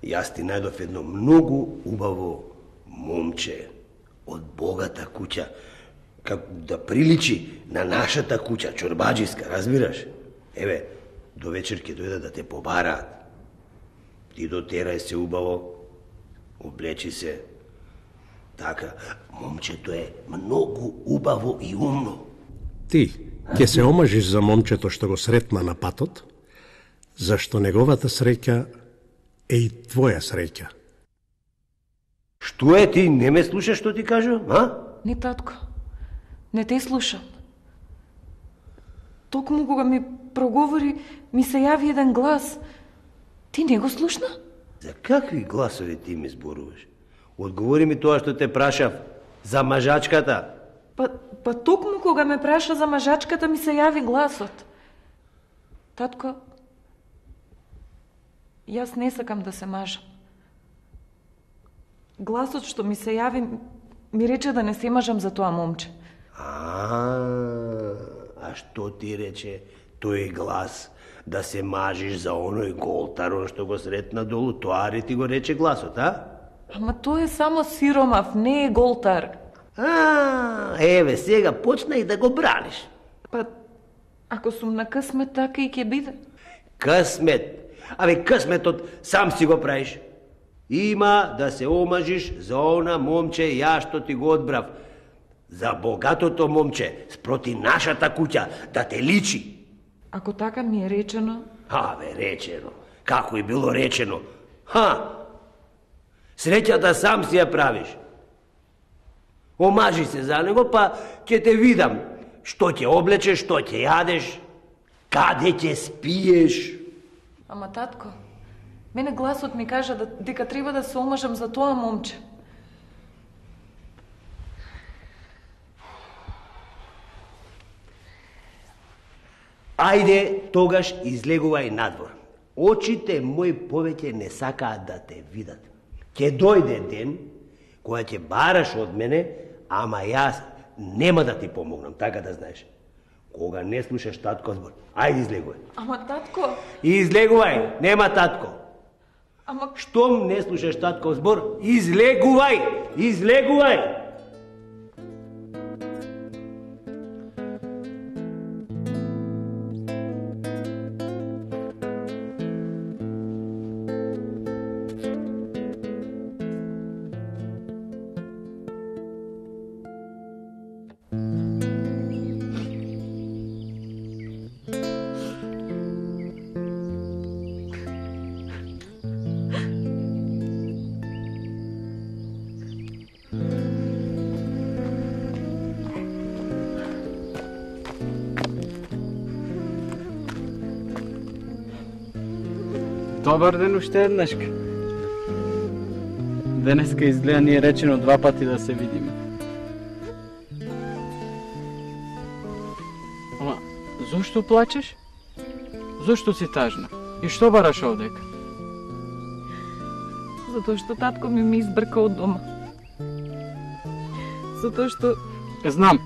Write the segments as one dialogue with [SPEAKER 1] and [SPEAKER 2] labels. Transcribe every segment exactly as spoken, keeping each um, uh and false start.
[SPEAKER 1] Јас ти најдов едно многу убаво момче од богата куќа, како да приличи на нашата куќа, чорбаџиска, разбираш? Еве, до вечер ќе дојдат да те побараат. Ти дотерај се убаво, облечи се. Така, момчето е многу убаво и умно.
[SPEAKER 2] Ти ќе се омажиш за момчето што го сретна на патот, зашто неговата среќа е и твоја среќа.
[SPEAKER 1] Што е, ти не ме слушаш што ти кажам, а?
[SPEAKER 3] Не, татко. Не те слушам. Токму кога ми проговори, ми се јави еден глас. Ти не го слушна?
[SPEAKER 1] За какви гласови ти ми зборуваш? Одговори ми тоа што те прашав. За мажачката.
[SPEAKER 3] Па, па токму кога ме праша за мажачката, ми се јави гласот. Татко, јас не сакам да се мажам. Гласот што ми се јави, ми рече да не се мажам за тоа момче.
[SPEAKER 1] А, а што ти рече тој глас? Да се мажиш за оној голтарон што го сретна долу, тоа ли ти го рече гласот, а?
[SPEAKER 3] Ама тој е само сиромав, не е голтар.
[SPEAKER 1] А, еве, сега почна и да го браниш.
[SPEAKER 3] Па, ако сум на късмет, така и ќе биде.
[SPEAKER 1] Късмет? Абе, късметот сам си го правиш. Има да се омажиш за она момче ја што ти го одбрав. За богатото момче, спроти нашата куќа, да те личи.
[SPEAKER 3] Ако така ми е речено...
[SPEAKER 1] Абе, речено. Како и било речено. Ха! Среќата сам си ја правиш. Омажи се за него, па ќе те видам. Што ќе облечеш, што ќе јадеш, каде ќе спиеш.
[SPEAKER 3] Ама, татко, мене гласот ми кажа да, дека треба да се омажам за тоа момче.
[SPEAKER 1] Ајде, тогаш излегувај надвор. Очите мои повеќе не сакаат да те видат. Ќе дојде ден кога ќе бараш од мене, ама јас нема да ти помогнам, така да знаеш. Кога не слушаш татко збор, ајде излегувај.
[SPEAKER 3] Ама, татко...
[SPEAKER 1] Излегувај, нема татко.
[SPEAKER 3] Ама...
[SPEAKER 1] Штом не слушаш татко збор, излегувај, излегувај.
[SPEAKER 4] Добар ден уште еднашка. Денеска изгледа ни е речено два пати да се видиме. Ама, зошто плачеш? Зошто си тажна? И што бараш овдека?
[SPEAKER 3] Затоа што татко ми ми избрка од дома. Затоа што...
[SPEAKER 4] Знам.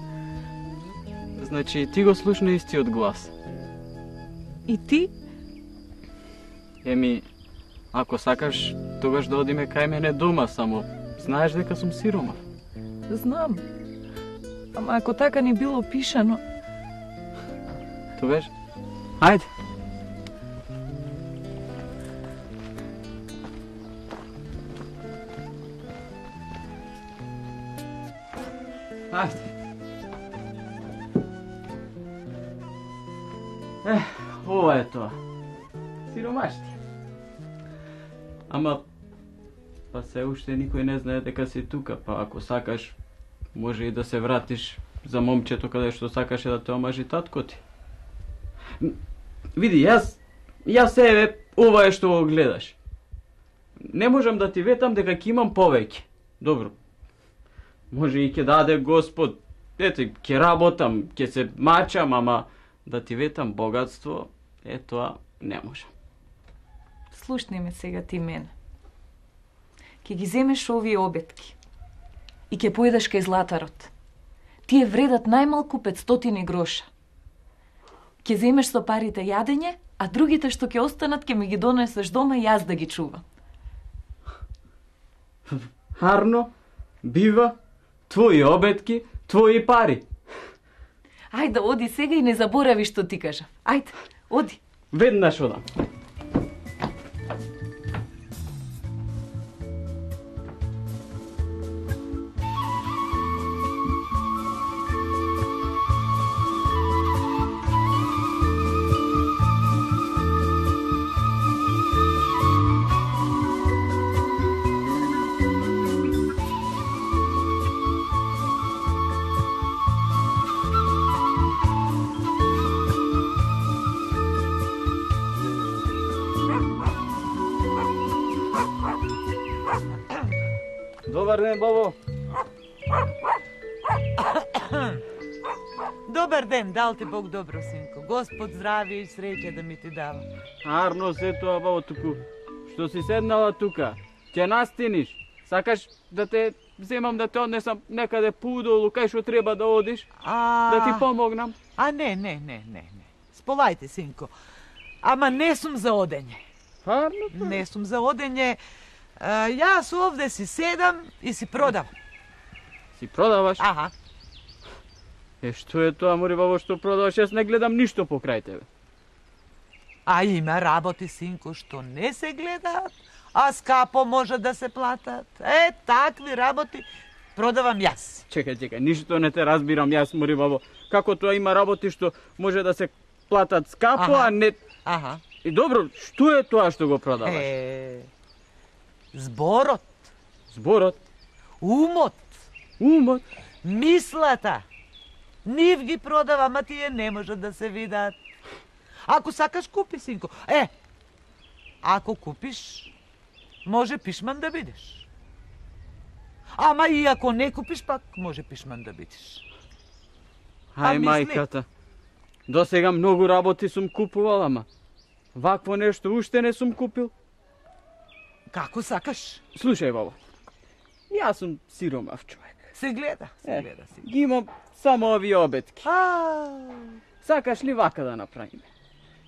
[SPEAKER 4] Значи, ти го слушна истиот глас.
[SPEAKER 3] И ти?
[SPEAKER 4] Еми, ако сакаш, тогаш да одиме кај мене дома, само знаеш дека сум сиромав.
[SPEAKER 3] Знам. Ама ако така ни било пишано...
[SPEAKER 4] Тогаш, ајде. Ајде. Ех, ова е тоа. Сиромашти. Ама, па се уште никој не знае дека си тука, па ако сакаш, може и да се вратиш за момчето каде што сакаше да те омажи татко ти. Види, јас, јас еве, ова е што го гледаш. Не можам да ти ветам дека ќе имам повеќе. Добро. Може и ќе даде Господ, ете, ќе работам, ќе се мачам, ама да ти ветам богатство, е тоа не можам.
[SPEAKER 3] Слушни ме сега ти мене. Ке ги земеш овие обетки и ке појдеш кај златарот. Тие вредат најмалку петстотини гроша. Ке земеш со парите јадење, а другите што ќе останат ке ми ги донесеш дома и јас да ги чувам.
[SPEAKER 4] Арно, бива, твои обетки, твои пари.
[SPEAKER 3] Ајде, оди сега и не заборави што ти кажа. Ајде, оди.
[SPEAKER 4] Веднаш одам. Добар ден, бабо.
[SPEAKER 5] Добар ден, дал ти Бог добро, синко. Господ здравје и среќа да ми ти дава.
[SPEAKER 4] Арно се тоа, бабо, туку. Што си седнала тука? Ќе настиниш? Сакаш да те земам да те однесам некаде поудолу, кај што треба да одиш?
[SPEAKER 5] А...
[SPEAKER 4] Да ти помогнам?
[SPEAKER 5] А не, не, не, не, не. Сполајте, синко. Ама не сум за одење.
[SPEAKER 4] Арно?
[SPEAKER 5] Не сум за одење. А, јас овде си седам и си продам.
[SPEAKER 4] Си продаваш?
[SPEAKER 5] Аха.
[SPEAKER 4] Е, што е тоа, мори, бабо, што продаваш? Јас не гледам ништо покрај тебе.
[SPEAKER 5] А има работи, синко, што не се гледаат, а скапо може да се платат. Е, такви работи продавам јас.
[SPEAKER 4] Чекај, чекај, ништо не те разбирам јас, мори, бабо. Како тоа има работи што може да се платат скапо,
[SPEAKER 5] Аха.
[SPEAKER 4] а не...
[SPEAKER 5] Аха.
[SPEAKER 4] И добро, што е тоа што го продаваш?
[SPEAKER 5] Е, зборот,
[SPEAKER 4] Зборот,
[SPEAKER 5] умот,
[SPEAKER 4] умот.
[SPEAKER 5] мислата. Нив ги продавам, а тие не може да се видат. Ако сакаш, купи, синко. Е, ако купиш, може пишман да бидеш. Ама и ако не купиш, пак може пишман да бидеш.
[SPEAKER 4] Ај,
[SPEAKER 5] мисли.
[SPEAKER 4] мајката. До сега многу работи сум купувал, ама вакво нешто уште не сум купил.
[SPEAKER 5] Како сакаш?
[SPEAKER 4] Слушај, бабо, јас сум сиромав човек.
[SPEAKER 5] Се гледа, се
[SPEAKER 4] Е,
[SPEAKER 5] гледа, синко.
[SPEAKER 4] ги имам само овие обетки.
[SPEAKER 5] А,
[SPEAKER 4] Сакаш ли вака да направиме?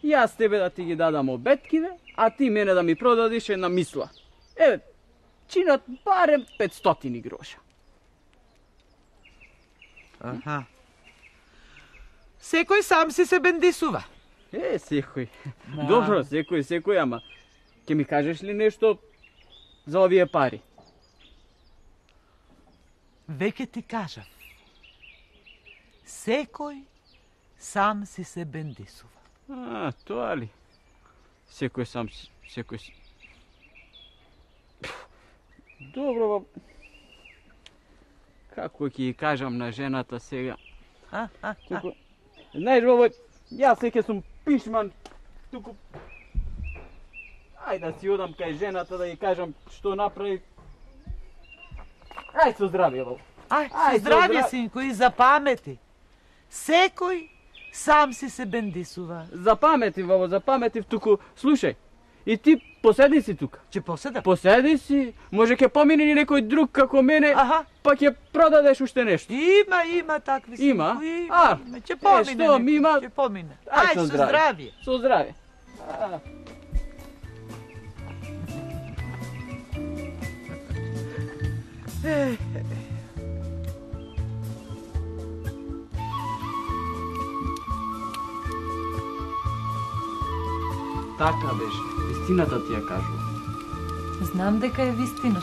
[SPEAKER 4] Јас тебе да ти ги дадам обетките, а ти мене да ми продадиш една мисла. Еве, чинат барем петстотини гроша.
[SPEAKER 5] аха. Секој сам си се бендисува.
[SPEAKER 4] Е, секој.
[SPEAKER 5] Да.
[SPEAKER 4] Добро, секој, секој, ама ќе ми кажеш ли нешто за овие пари?
[SPEAKER 5] Веќе ти кажав. Секој сам си се бендисува.
[SPEAKER 4] А, тоа ли? Секој сам, си- секој си... Добро, ба... Како ќе ја кажам на жената сега?
[SPEAKER 5] А, а, а.
[SPEAKER 4] Туку... Знаеш, бабо, јас веќе сум пишман, туку... Ај да си одам кај жената да ја кажам што направи. Ај со здравје, бабо.
[SPEAKER 5] Ај,
[SPEAKER 4] Ај,
[SPEAKER 5] со здравје,
[SPEAKER 4] здра-
[SPEAKER 5] синко, и запамети. Секој сам си се бендисува.
[SPEAKER 4] Запаметив, бабо, запаметив, туку... Слушај, и ти поседи си тука.
[SPEAKER 5] Че поседа?
[SPEAKER 4] Поседи си, може ќе помине ни некој друг како мене,
[SPEAKER 5] Аха.
[SPEAKER 4] па ќе продадеш уште нешто.
[SPEAKER 5] Има, има такви синко.
[SPEAKER 4] Има?
[SPEAKER 5] Има,
[SPEAKER 4] А,
[SPEAKER 5] има. Ќе
[SPEAKER 4] е,
[SPEAKER 5] помине.
[SPEAKER 4] што,
[SPEAKER 5] некој,
[SPEAKER 4] мима?
[SPEAKER 5] Ќе помине.
[SPEAKER 4] Ај,
[SPEAKER 5] Ај,
[SPEAKER 4] со
[SPEAKER 5] со
[SPEAKER 4] здравје.
[SPEAKER 5] здравје.
[SPEAKER 4] Со здравје. А. Така беше, вистината ти ја кажувам.
[SPEAKER 3] Знам дека е вистина.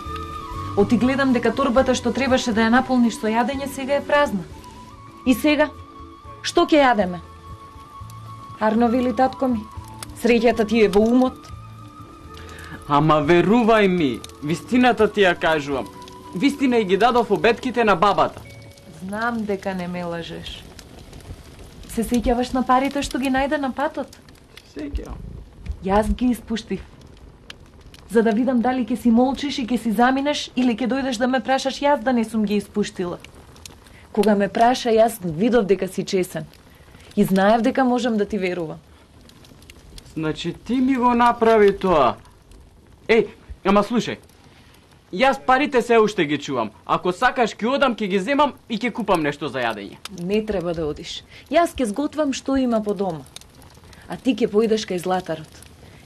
[SPEAKER 3] Оти гледам дека торбата што требаше да ја наполниш со јадење сега е празна. И сега? Што ќе јадеме? Арно вели татко ми, среќата ти е во умот.
[SPEAKER 4] Ама верувај ми, вистината ти ја кажувам. Вистина и ги дадов обетките на бабата.
[SPEAKER 3] Знам дека не ме лажеш. Се сеќаваш на парите што ги најде на патот?
[SPEAKER 4] Сеќавам.
[SPEAKER 3] Јас ги испуштив. За да видам дали ќе си молчиш и ќе си заминеш или ќе дојдеш да ме прашаш јас да не сум ги испуштила. Кога ме праша, јас видов дека си чесен. И знаев дека можам да ти верувам.
[SPEAKER 4] Значи ти ми го направи тоа. Еј, ама слушај. Јас парите се уште ги чувам. Ако сакаш ќе одам, ќе ги земам и ќе купам нешто за јадење.
[SPEAKER 3] Не треба да одиш. Јас ќе сготвам што има по дома. А ти ќе поидеш кај златарот.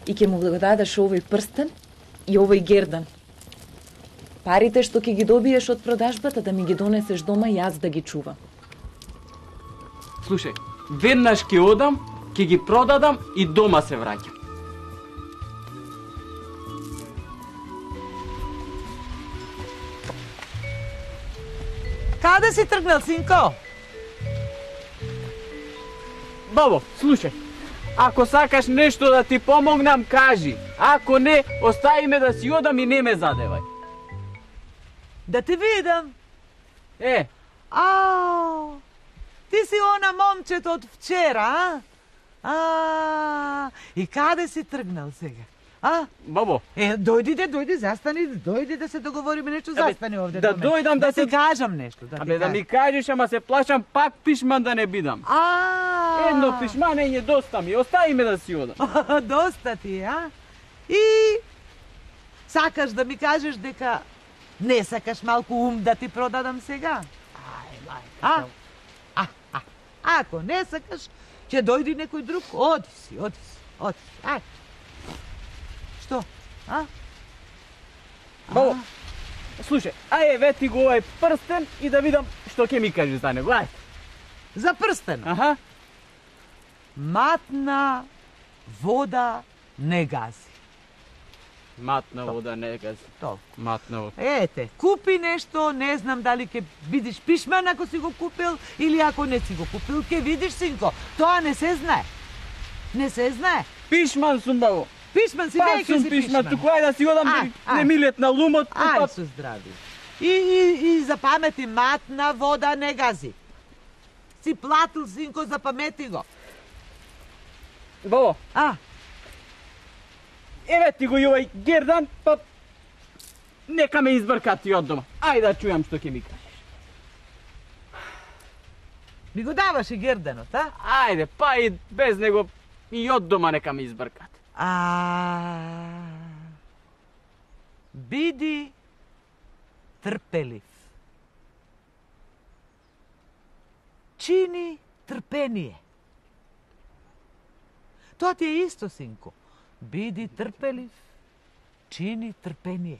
[SPEAKER 3] И ќе му го дадеш овој прстен и овој гердан. Парите што ќе ги добиеш од продажбата да ми ги донесеш дома и јас да ги чувам.
[SPEAKER 4] Слушај, веднаш ќе одам, ќе ги продадам и дома се враќам.
[SPEAKER 5] Каде си тргнал, синко?
[SPEAKER 4] Бабо, слушај, ако сакаш нешто да ти помогнам, кажи. Ако не, остави ме да си одам и не ме задевај.
[SPEAKER 5] Да те видам.
[SPEAKER 4] Е,
[SPEAKER 5] Ау, ти си она момчето од вчера, а? А, и каде си тргнал сега? А?
[SPEAKER 4] бабо,
[SPEAKER 5] Е, дојди де, дојди, застани, дојди да се договориме нешто,
[SPEAKER 4] Абе,
[SPEAKER 5] застани овде.
[SPEAKER 4] да
[SPEAKER 5] до мене.
[SPEAKER 4] дојдам да
[SPEAKER 5] да
[SPEAKER 4] се-
[SPEAKER 5] ти кажам нешто, да ти
[SPEAKER 4] абе да
[SPEAKER 5] кажам.
[SPEAKER 4] ми кажеш, ама се плашам пак пишман да не бидам.
[SPEAKER 5] А,
[SPEAKER 4] Едно пишмање доста ми, остави ме да си одам.
[SPEAKER 5] Доста ти, а? И сакаш да ми кажеш дека не сакаш малку ум да ти продадам сега? Ај, мајка. А? А, а, ако не сакаш, ќе дојди некој друг, оди си, оди си, оди си. Ај. Што? А?
[SPEAKER 4] Бабо, слушај, ајде вети го овај прстен и да видам што ќе ми кажеш за него, ајде.
[SPEAKER 5] За прстен.
[SPEAKER 4] Аха.
[SPEAKER 5] Матна вода не гази.
[SPEAKER 4] Матна вода не гази.
[SPEAKER 5] Толку.
[SPEAKER 4] Матна вода.
[SPEAKER 5] Ете, купи нешто, не знам дали ќе видиш пишман ако си го купил или ако не си го купил, ќе видиш, синко. Тоа не се знае. Не се знае.
[SPEAKER 4] Пишман сум, бабо.
[SPEAKER 5] Пишман си,
[SPEAKER 4] Пак
[SPEAKER 5] веќе
[SPEAKER 4] сум
[SPEAKER 5] си
[SPEAKER 4] пишман,
[SPEAKER 5] пишман.
[SPEAKER 4] туку ајде да си одам,
[SPEAKER 5] Ај,
[SPEAKER 4] да не
[SPEAKER 5] ај.
[SPEAKER 4] ми летна лумот.
[SPEAKER 5] Ај,
[SPEAKER 4] па-
[SPEAKER 5] со здрави. И, и, и запамети, матна вода не гази. Си платил, синко, запамети го.
[SPEAKER 4] Бабо,
[SPEAKER 5] А,
[SPEAKER 4] еве ти го и овај гердан, па нека ме избркати од дома. Ајде да чујам што ќе ми кажеш.
[SPEAKER 5] ми го даваш и герданот, а?
[SPEAKER 4] Ајде, па и без него и од дома нека ме избркат.
[SPEAKER 5] А, биди трпелив. Чини трпение. Тоа ти е исто, синко. Биди трпелив, чини трпение.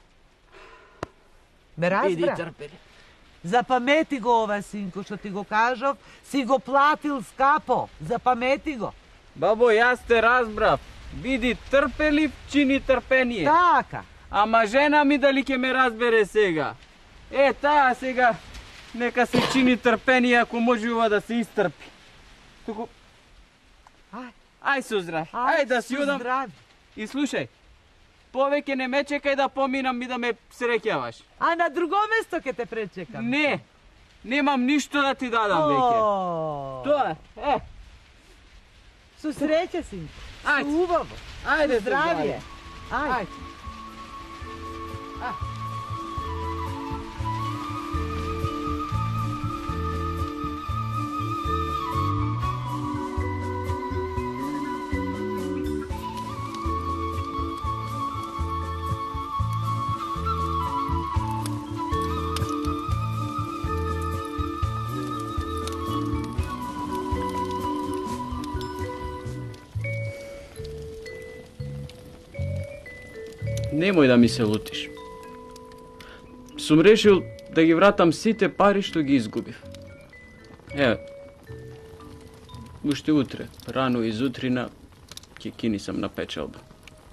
[SPEAKER 5] Ме
[SPEAKER 4] Иди
[SPEAKER 5] разбра?
[SPEAKER 4] трпели.
[SPEAKER 5] Запамети го ова, синко, што ти го кажав, си го платил скапо. Запамети го.
[SPEAKER 4] Бабо, јас те разбрав. Биди трпелив, чини трпение.
[SPEAKER 5] Така.
[SPEAKER 4] Ама жена ми дали ќе ме разбере сега? Е, таа сега нека се чини трпение ако може ова да се истрпи. Туку,
[SPEAKER 5] Ај,
[SPEAKER 4] ај со здрав, ај да си
[SPEAKER 5] со
[SPEAKER 4] одам.
[SPEAKER 5] здрави.
[SPEAKER 4] И слушај, повеќе не ме чекај да поминам и да ме среќаваш.
[SPEAKER 5] А на друго место ќе те пречекам.
[SPEAKER 4] Не, немам ништо да ти дадам веќе.
[SPEAKER 5] О,
[SPEAKER 4] Тоа, е,
[SPEAKER 5] Со среќа, синко.
[SPEAKER 4] Ајде.
[SPEAKER 5] Со убаво.
[SPEAKER 4] ајде
[SPEAKER 5] Со здравје. Ајде.
[SPEAKER 4] Ајде. Немој да ми се лутиш. Сум решил да ги вратам сите пари што ги изгубив. Еве, уште утре, рано изутрина, ќе кинисам на печалба.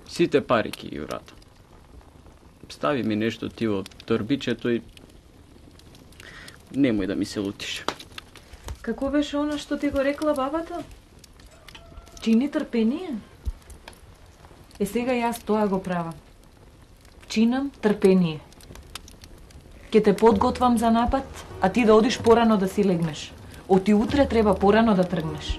[SPEAKER 4] Сите пари ќе ги вратам. Стави ми нешто ти во торбичето и немој да ми се лутиш.
[SPEAKER 3] Како беше она што ти го рекла бабата? Чини трпение? Е, сега јас тоа го правам. Чинам трпение. Ке те подготвам за напад, а ти да одиш порано да си легнеш. Оти утре треба порано да тргнеш.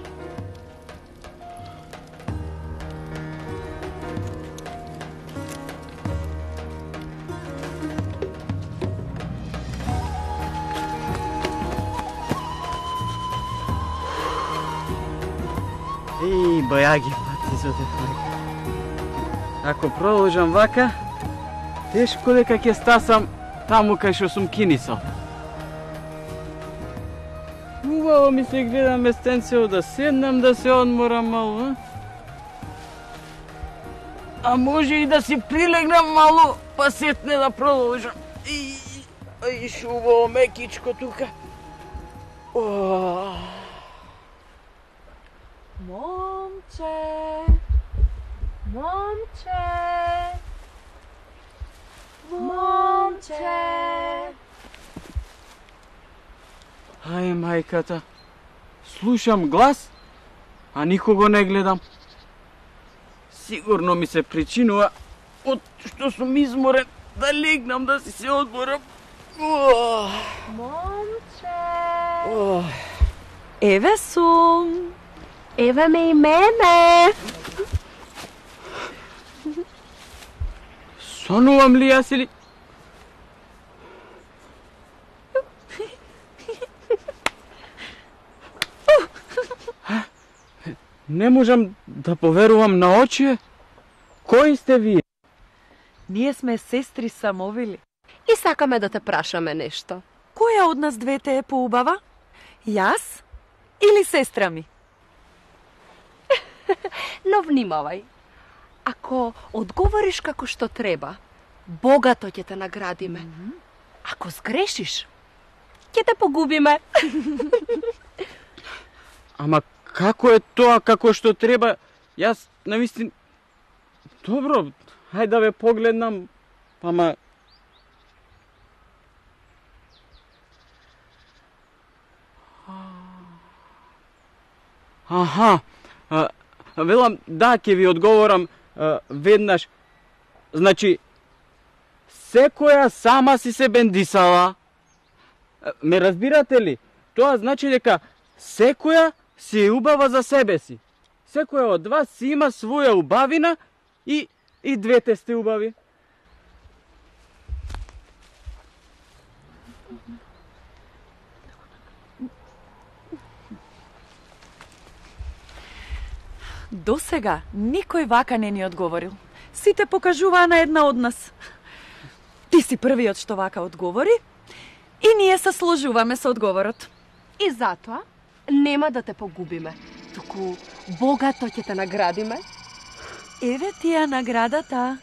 [SPEAKER 4] И бојаги пати со те мајка. Ако продолжам вака, тешко дека ќе стасам таму кај што сум кинисал. Убаво ми се гледа местенцево да седнам да се одморам мало, а? А може и да си прилегнам мало, па сетне да продолжам. И, и шубаво мекичко тука. О.
[SPEAKER 3] Момче, момче, момче.
[SPEAKER 4] Ај, мајката. Слушам глас, а никого не гледам. Сигурно ми се причинува од што сум изморен да легнам да си се одморам. О.
[SPEAKER 3] Момче.
[SPEAKER 4] О.
[SPEAKER 3] Еве сум.
[SPEAKER 6] Еве ме и мене.
[SPEAKER 4] Сонувам ли јас или... Не можам да поверувам на очи. Кои сте вие?
[SPEAKER 3] Ние сме сестри Самовили.
[SPEAKER 6] И сакаме да те прашаме нешто.
[SPEAKER 3] Која од нас двете е поубава? Јас или сестра ми?
[SPEAKER 6] Но внимавај. Ако одговориш како што треба, богато ќе те наградиме. Mm-hmm. Ако сгрешиш, ќе те погубиме.
[SPEAKER 4] Ама како е тоа како што треба? Јас навистина... Добро, хајде да ве погледнам, ама... Аха, а, велам, да, ќе ви одговорам а, веднаш. Значи, секоја сама си се бендисала. Ме разбирате ли? Тоа значи дека секоја си е убава за себе си. Секоја од вас си има своја убавина и, и двете сте убави.
[SPEAKER 3] До сега никој вака не ни одговорил. Сите покажуваа на една од нас. Ти си првиот што вака одговори и ние се сложуваме со одговорот.
[SPEAKER 6] И затоа нема да те погубиме, туку богато ќе те наградиме.
[SPEAKER 3] Еве ти ја наградата.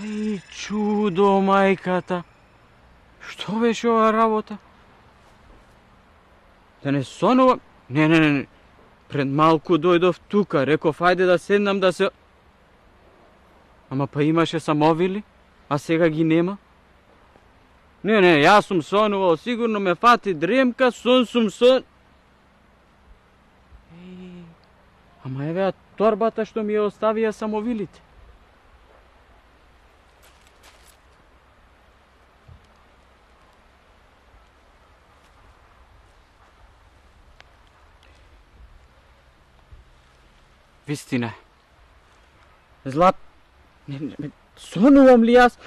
[SPEAKER 4] Ај, чудо, мајката. Што беше ова работа? Да не сонувам? Не, не, не. Пред малку дојдов тука, реков ајде да седнам да се... Ама па имаше Самовили, а сега ги нема. Не, не, јас сум сонувал, сигурно ме фати дремка, сон сум сон... Еј, ама евеа торбата што ми ја оставија Самовилите. Вистина. Злат... Не, не, сонувам ли јас?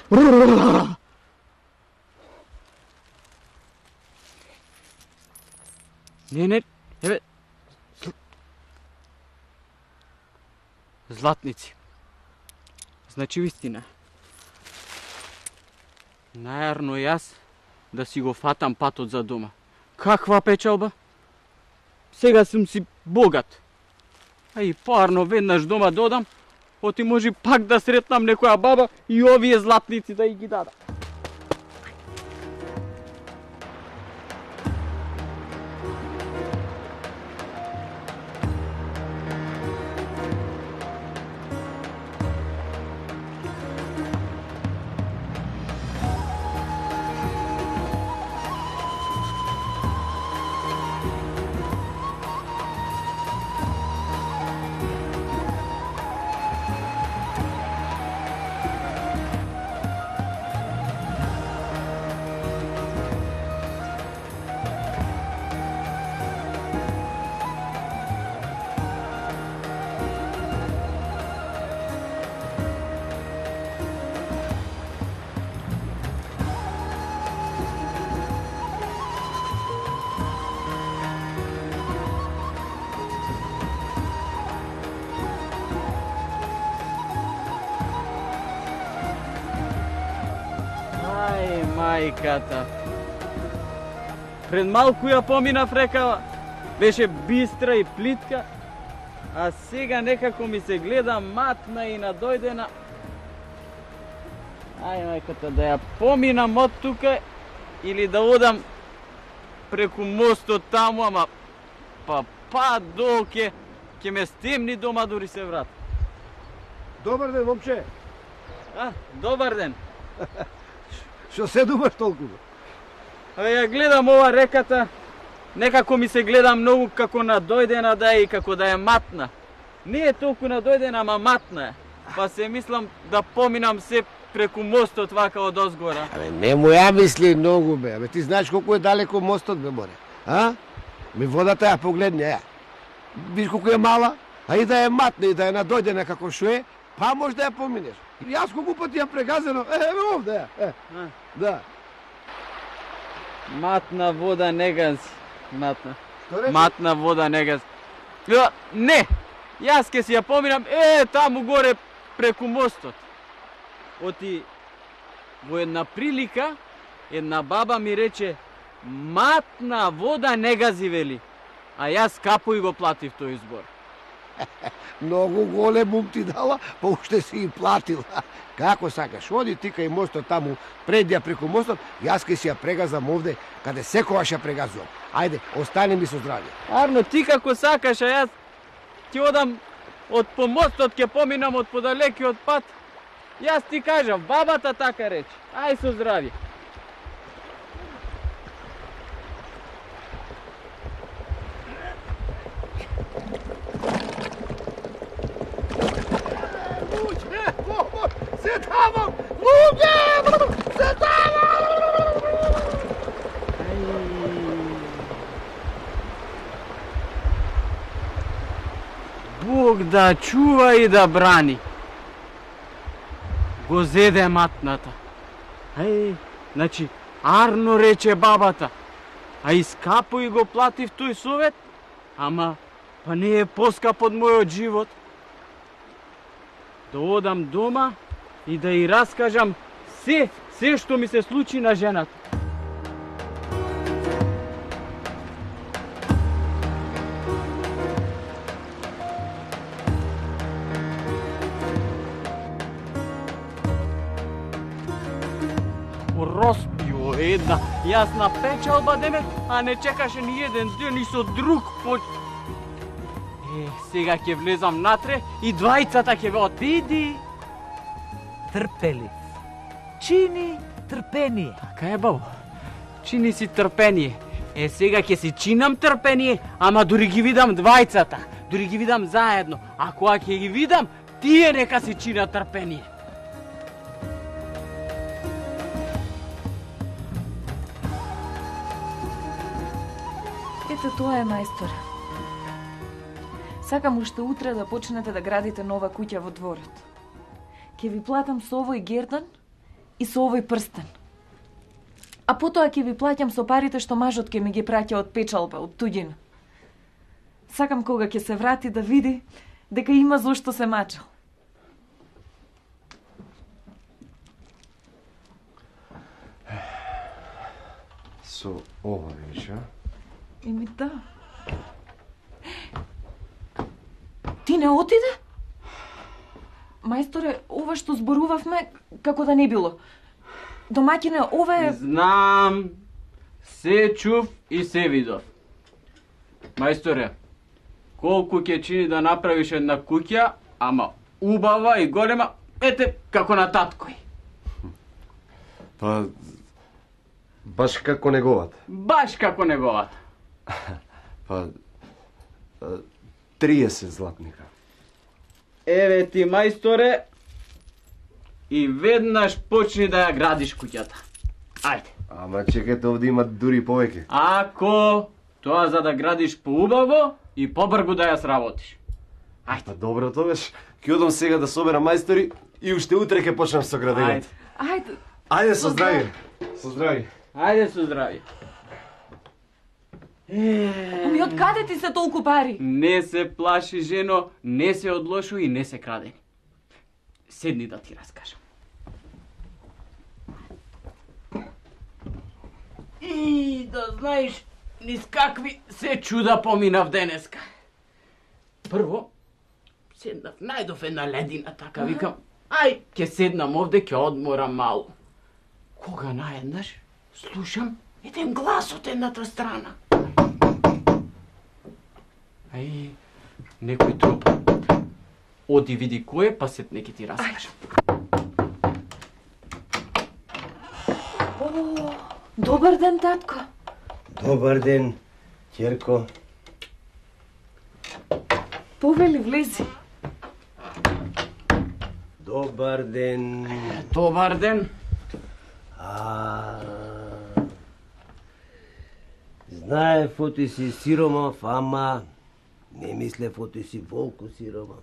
[SPEAKER 4] Не, не, еве... Златници. Значи вистина. Најарно јас да си го фатам патот за дома. Каква печалба? Сега сум си богат. А и парно веднаш дома додам, оти може пак да сретнам некоја баба и овие златници да и ги дадам. Мајката. Пред малку ја поминав рекава. Беше бистра и плитка. А сега некако ми се гледа матна и надојдена. Ај, мајката, да ја поминам од тука или да одам преку мостот таму, ама па па доке ќе ме стемни дома дури се врат.
[SPEAKER 1] Добар ден, момче.
[SPEAKER 4] А, добар ден.
[SPEAKER 1] Што се думаш толку?
[SPEAKER 4] А ја гледам ова реката, некако ми се гледа многу како надојдена да е и како да е матна. Не е толку надојдена, ама матна е. Па се мислам да поминам се преку мостот вака од озгора.
[SPEAKER 1] Абе, не му ја мисли многу, бе. Абе, ти знаеш колку е далеко мостот, бе, море. А? Ми водата ја погледни, ја. Виж колку е мала, а и да е матна и да е надојдена како што е, па може да ја поминеш. И јас колку пати ја прегазено, е, еве овде, ја. Е,
[SPEAKER 4] А.
[SPEAKER 1] да.
[SPEAKER 4] Матна вода не гази. Матна.
[SPEAKER 1] Што рече?
[SPEAKER 4] Матна вода не гази. Ја, не! Јас ке си ја поминам, е, таму горе преку мостот. Оти, во една прилика, една баба ми рече, матна вода не гази, вели. А јас капо и го платив тој збор.
[SPEAKER 1] Многу голем ум ти дала, па уште си и платил. Како сакаш, оди ти кај мостот таму, пред ја преку мостот, јас ке си ја прегазам овде, каде секогаш ја прегазувам. Ајде, остани ми со здравје.
[SPEAKER 4] Арно, ти како сакаш, а јас ќе одам од по мостот, ќе поминам од подалекиот пат. Јас ти кажам, бабата така рече. Ај со здравје.
[SPEAKER 1] Се тамам! Луѓе! Се тамам!
[SPEAKER 4] Бог да чува и да брани. Го зеде матната. Ај, значи, арно рече бабата. А искапо и го платив тој совет, ама па не е поскап од мојот живот. Да одам дома и да и раскажам се, се што ми се случи на жената. Роспио една јасна печалба деме, а не чекаше ни еден ден и со друг поч... Е, сега ќе влезам натре и двајцата ќе веат, биди.
[SPEAKER 5] Трпелив. Чини трпение.
[SPEAKER 4] Така е, бабо. Чини си трпение. Е, сега ќе си чинам трпение, ама дури ги видам двајцата. Дури ги видам заедно. А кога ќе ги видам, тие нека си чина трпение.
[SPEAKER 3] Ето тоа е, мајсторе. Сакам уште утре да почнете да градите нова куќа во дворот. Ќе ви платам со овој гердан и со овој прстен. А потоа ќе ви плаќам со парите што мажот ќе ми ги праќа од печалба, од туѓина. Сакам кога ќе се врати да види дека има зошто се мачал.
[SPEAKER 1] Со ова веќе?
[SPEAKER 3] Еми да. Ти не отиде? Мајсторе, ова што зборувавме, како да не било. Домаќине, ова е...
[SPEAKER 4] Знам, се чув и се видов. Мајсторе, колку ќе чини да направиш една куќа, ама убава и голема, ете како на таткој.
[SPEAKER 7] Па, баш како неговата.
[SPEAKER 4] Баш како неговата.
[SPEAKER 7] Па, триесет златника.
[SPEAKER 4] Еве ти, мајсторе, и веднаш почни да ја градиш куќата. Ајде.
[SPEAKER 7] Ама чекайте, овде има дури повеќе.
[SPEAKER 4] Ако тоа за да градиш поубаво и побргу да ја сработиш. Ајде.
[SPEAKER 7] Па добро, тогаш ќе одам сега да соберам мајстори и уште утре ќе почнам со градењето.
[SPEAKER 3] Ајде.
[SPEAKER 7] Ајде со здравје. Со здравје.
[SPEAKER 4] Ајде со здравје.
[SPEAKER 3] Ами од каде ти се толку пари?
[SPEAKER 4] Не се плаши, жено, не се од лошо и не се крадени. Седни да ти раскажам. И да знаеш, низ какви се чуда поминав денеска. прво, седнав, најдов една ледина, така викам, ај, ќе седнам овде, ќе одморам малу. Кога наеднаш, слушам еден глас од едната страна. Ај, некој труп. Оди види кој е, па сет неки ти раскажам.
[SPEAKER 3] О, добар ден, татко.
[SPEAKER 1] Добар ден, ќерко.
[SPEAKER 3] Повели, влези.
[SPEAKER 1] Добар ден.
[SPEAKER 4] Добар ден.
[SPEAKER 1] А... Знаев оти си сиромав, ама не мислев оти си волку сиромав.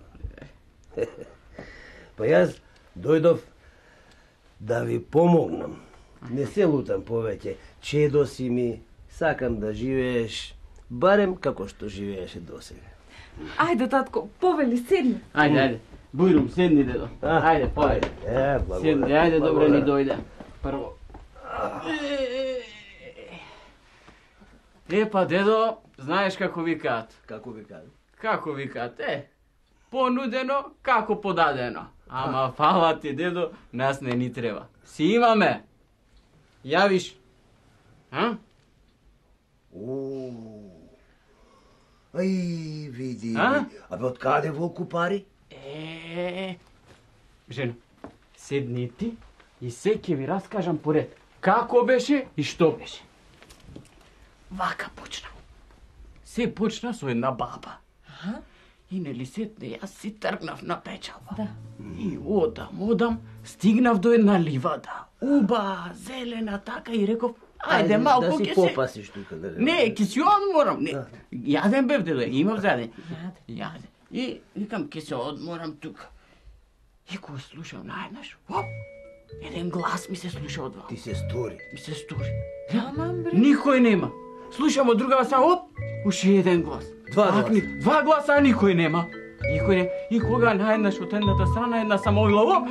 [SPEAKER 1] Па јас дојдов да ви помогнам. Не се лутам повеќе. Чедо си ми, сакам да живееш барем како што живееше досега.
[SPEAKER 3] Ајде, татко, повели, седни.
[SPEAKER 4] Ајде, ајде. Бујрум, седни, дедо. Ајде, појде.
[SPEAKER 1] Е, благодарам.
[SPEAKER 4] Седни, ајде, добре ни дојде. Прво. Е, па, дедо, знаеш како викаат?
[SPEAKER 1] Како ви кажам?
[SPEAKER 4] Како викаат, е? Понудено, како подадено. Ама, фала ти, дедо, нас не ни треба. Си имаме. Јавиш. А?
[SPEAKER 1] О. Ај, види.
[SPEAKER 4] А?
[SPEAKER 1] Абе, од каде волку пари?
[SPEAKER 4] Е, жено, седни ти и се ќе ви раскажам поред. Како беше и што беше. Вака почна. Се почна со една баба.
[SPEAKER 3] Аха.
[SPEAKER 4] И нели сетне, јас си тргнав на печалба. Да. И одам, одам, стигнав до една ливада. Уба, зелена така и реков, ајде малку
[SPEAKER 1] да си
[SPEAKER 4] ќе се...
[SPEAKER 1] попасиш тука. Да...
[SPEAKER 4] Не, ќе си одморам. Не. Јаден бев, дедо, имав заден. Јаден. И викам, ќе се одморам тука. И кога слушам наеднаш, оп, еден глас ми се слуша од ваму.
[SPEAKER 1] Ти се стори.
[SPEAKER 4] Ми се стори.
[SPEAKER 3] Аман, бре.
[SPEAKER 4] Никој нема. Слушам од другава страна, оп, уште еден глас.
[SPEAKER 1] Два гласа.
[SPEAKER 4] Акни, два гласа, а никој нема. Никој не. И кога наеднаш од едната страна една самоила, оп,